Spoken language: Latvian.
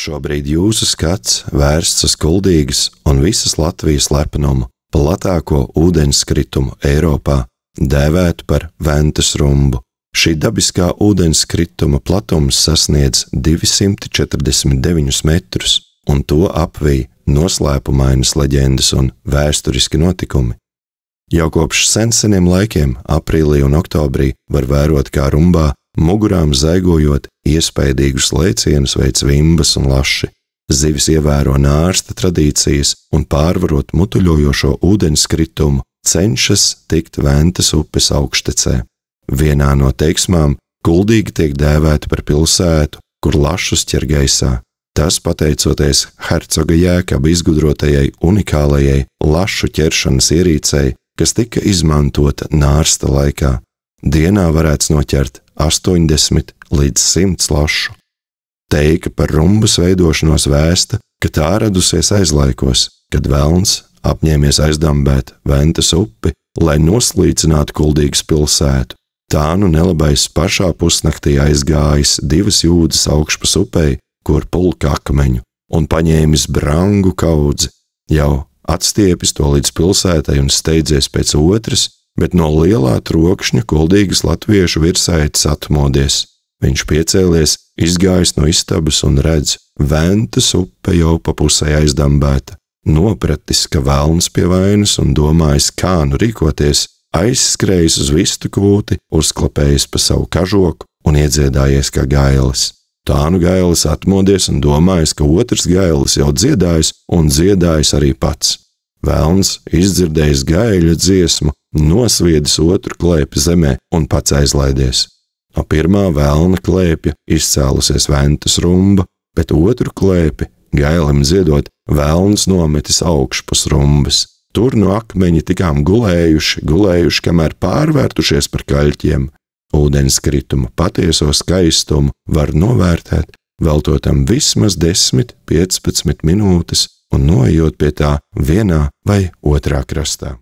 Šobrīd jūsu skats vērsts uz Kuldīgas un visas Latvijas lepenumu, platāko ūdenskritumu Eiropā, dēvētu par Ventas rumbu. Šī dabiskā ūdenskrituma platums sasniedz 249 metrus, un to apvij noslēpumainas leģendas un vēsturiski notikumi. Jau kopš seniem laikiem, aprīlī un oktobrī, var vērot, kā rumbā, mugurām zaigojot, iespaidīgus lēcienus veic vimbas un laši. Zivis ievēro nārsta tradīcijas un pārvarot mutuļojošo ūdenskritumu, cenšas tikt Ventas upes augštecē. Vienā no teiksmām Kuldīga tiek dēvēta par pilsētu, kur lašus ķer gaisā. Tas pateicoties hercoga Jēkaba izgudrotajai unikālajai lašu ķeršanas ierīcei, kas tika izmantota nārsta laikā. Dienā varēts noķert 80 līdz 100 lašu. Teika par rumbas veidošanos vēsta, ka tā radusies aizlaikos, kad velns apņēmies aizdambēt Ventas upi, lai noslīcinātu Kuldīgas pilsētu. Tā nu nelabais pašā pusnaktī aizgājis 2 jūdzes augšpas upei, kur pulka akmeņu, un paņēmis brangu kaudzi, jau atstiepis to līdz pilsētai un steidzies pēc otras, bet no lielā trokšņa Kuldīgas latviešu virsaitis atmodies. Viņš piecēlies, izgājis no istabas un redz, Ventas upe jau pa pusē aizdambēta. Nopratis, ka velns pie vainas un domājis, kā nu rīkoties, aizskrējis uz vistu kūti, uzklapējis pa savu kažoku un iedziedājies kā gailis. Tā nu gailis atmodies un domājis, ka otrs gailis jau dziedājis un dziedājis arī pats. Velns, izdzirdējis gaiļa dziesmu, nosviedis otru klēpi zemē un pats aizlaidies. No pirmā velna klēpja izcēlusies Ventas rumba, bet otru klēpi, gailim dziedot, velns nometis augšpus rumbas. Tur no akmeņi tikām gulējuši, kamēr pārvērtušies par kaļķiem. Ūdenskrituma patieso skaistumu var novērtēt, veltot tam vismaz 10–15 minūtes un noejot pie tā vienā vai otrā krastā.